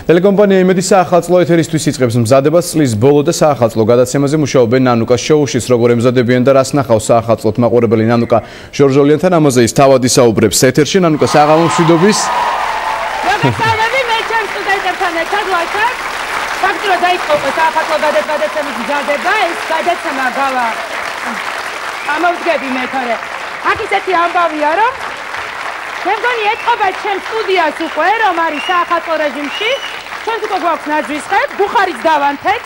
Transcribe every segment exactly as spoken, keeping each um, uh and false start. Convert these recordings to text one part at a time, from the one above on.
ტელეკომპანია იმედი საახალწლო ეთერისთვის იწყებს მზადებას წლის ბოლო და საახალწლო გადაცემაზე მუშაობენ ნანუკას შოუში, როგორ ემზადებიან და რას ნახავს საახალწლოთ მაყურებელი ნანუკა ჟორჟოლიანთან ამაზე ის თავად ისაუბრებს ეთერში. ნანუკა, საღამო მშვიდობის. მოგესალმები, მე ჩემს სტუდენტებთან ერთად ვართ. ფაქტობრივად დაიწყო საახალწლო გადაცემის მზადება, ეს გადაცემა გავა ამოვდგები მე თორე. აქ ისეთი ამბავია, რომ მე მგონი ეთყობა ჩემს სტუდიას უკვე, რომ არის საახალწლო რეჟიმში. ჩვენც უკვე გვაქვს ნაძვისხებ, ბუხარიც დავანთეთ.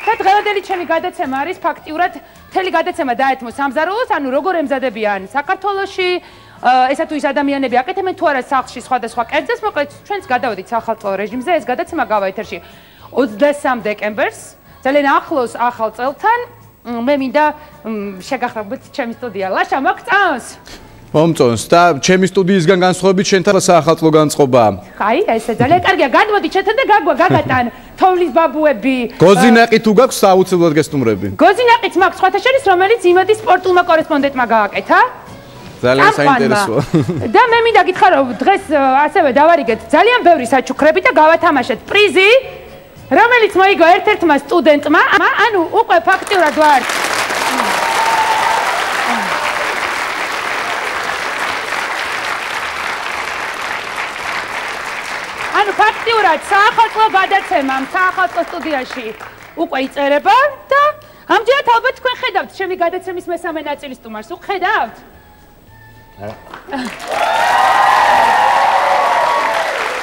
და დღევანდელი ჩემი გადაცემა არის ფაქტიურად მთელი გადაცემა დაეთმო სამზარეულოს, ანუ როგორ ემზადებიან საქართველოში, ესა თუ ის ადამიანები აკეთებენ თუ არა სახლში სხვადასხვა კერძებს, მოკლედ ჩვენც გადავედით საახალწლო რეჟიმზე, ეს გადაცემა გავა ეთერში ოცდასამ დეკემბერს, ძალიან ახლოს ახალ წელთან. მე მინდა შეგახსოვოთ ჩემი სტუდია. ლაშა, მოგწონს? მომწონს და ჩემი სტუდიისგან განსხვავებით შენთან საახალწლო განწყობა. აი, ესე ძალიან კარგია. გადმოდი ჩვენთან და გაგვა გაგატან თოვლის ბაბუები. გოზინაყი თუ გაქვს, აუცილებლად გესტუმრები. გოზინაყიც მაქვს სხვათა შორის, რომელიც იმედის სპორტულმა კორესპონდენტმა გააკეთა. ძალიან საინტერესოა. და მე მინდა გითხრა, რომ დღეს ასევე დავარიგეთ ძალიან ბევრი საჩუქრები და გავათამაშეთ პრიზი, რომელიც მოიგო ერთ-ერთმა სტუდენტმა, ანუ უკვე ფაქტიურად ვარ ანუ ფაქტიურად საახალწლო გადაცემამ საახალწლო სტუდიაში უკვე იწერება და ამჯერად ალბათ თქვენ ხედავთ ჩემი გადაცემის მესამე ნაწილის სტუმარს. უხედავთ?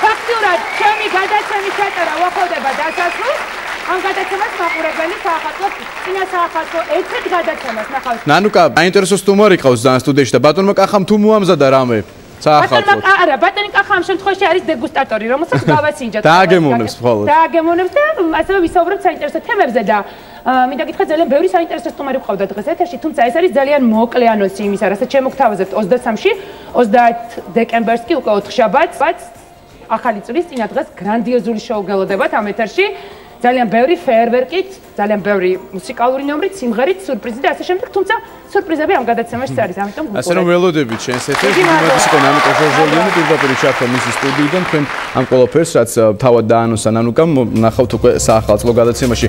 ფაქტიურად ჩემი გადაცემის ჩაწერა უახლოვდება დასასრულს. ამ გადაცემას მაყურებელი საახალწლო წინა საახალწლო ერთ-ერთ გადაცემას ნახავს. ნანუკა, საინტერესო სტუმარი ყავს ძალიან სტუდიაში და ბატონმა კახამ თუ მოამზადა რამე? საახალწლო. არა, ბატონი კახა ამ შემთხვევაში არის დეგუსტატორი, რომელსაც გავაცინჯათ. დააგემოვნებს მხოლოდ. დააგემოვნებს და ასევე ვისაუბრებთ საინტერესო თემებზე და მინდა გითხრათ, ძალიან ბევრი საინტერესო სტუმარი ყავდა დღეს ეთერში, თუმცა ეს არის ძალიან მოკლე ანონსი იმისა, რასაც შემოგთავაზებთ ოცდასამში, ოცდაათ დეკემბერს კი უკვე ოთხშაბათს, ახალი წლის წინა დღეს გრანდიოზული შოუ გელოდებათ ამ ეთერში. ძალიან ბევრი ფეერვერკით, ძალიან ბევრი მუსიკალური ნომრით, სიმღერით, სურპრიზით და ასე შემდეგ, თუმცა სურპრიზები ამ გადაცემაში არის, ამიტომ გუყურებთ. ასე რომ ველოდებით შენს ეთერში, იმედის იყო ნანუკა ჟორჟოლიანი პირდაპირ ჩართვა მისი სტუდიიდან, თქვენ ამ ყველაფერს რაც თავად დაანონსა ნანუკამ, ნახავთ უკვე საახალწლო გადაცემაში.